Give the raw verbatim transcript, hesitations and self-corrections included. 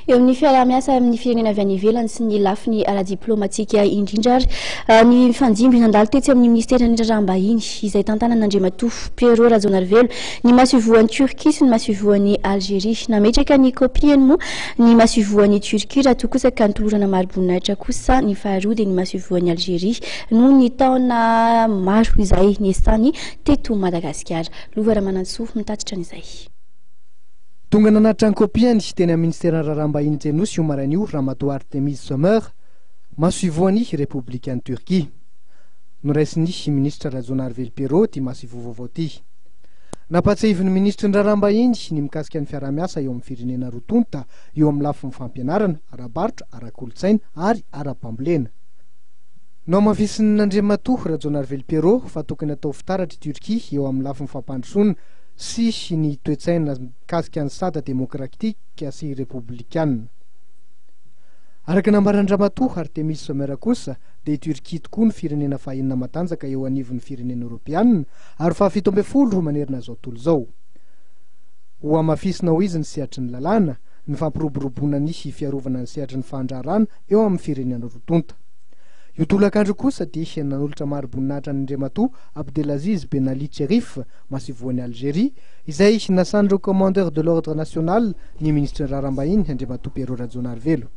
Eo amin'ny fiarah-miasa amin'ny firenena avy any ivelany sy ny lafiny ara-diplomatika indrindra ary eh, ny fandimby nandalo tetsy amin'ny ministeran'ny Raharaham-bahiny izay tantanan'Andriamatoa Pierrot Rajaonarivelo ny masoivohon'i Turquie sy ny masoivohon'i Algérie. Nametraka ny kopiany moa ny masoivohon'i Turquie, raha toa kosa ka notolorana mari-boninahitra kosa ny faharoa, dia ny masoivohon'i Algérie, noho ny taona maro izay niasany teto Madagasikara. Lova Ramanantsoa mitatitra an'izay. Tonga nanatitra ny kopiany teny amin'ny ministeran'ny Raharaham-bahiny teny Anosy io maraina io Ramatoa Artemis Sommer, masoivohon'ny Repoblikan'i Turquie. Noraisin'ny ministra Rajaonarivelo Pierrot ty masoivoho vaovao ty. Nampatsiahivin'ny ministry ny Raharaham-bahiny ny mikasika ny fiarah-miasa eo amin'ny firenena roa tonta eo amin'ny lafiny fampianarana, ara-barotra, ara-kolotsaina ary ara-pambolena. Nohamafisin'Andriamatoa Rajaonarivelo Pierrot fa tokony atao fitaratra Turquie eo amin'ny lafiny fampandrosoana sy ny toetsaina mikasika ny sata demokratika sy repoblikana. Araka nambaran-dRamatoa Artemis Sommer kosa, dia Turquie tokoa ny firenena fahenina matanjaka eo anivon'ny firenena eoropeanina ary fahafito amby folo manerana izao tontolo izao. Ho hamafisina ho izy ny sehatry ny lalàna, ny fampiroboroboana ny fiarovana ny sehatry ny fandraharahana eo amin'ny firenena roa tonta. Io tolakandro kosa dia nanolotra mari-boninahitra ny Andriamatoa Abdelaziz Benali Cherif, masoivohon'i Algérie, izay nasan'ireo commandeur de l'ordre national, ny ministre ny Raharaham-bahiny Andriamatoa Pierrot Rajaonarivelo.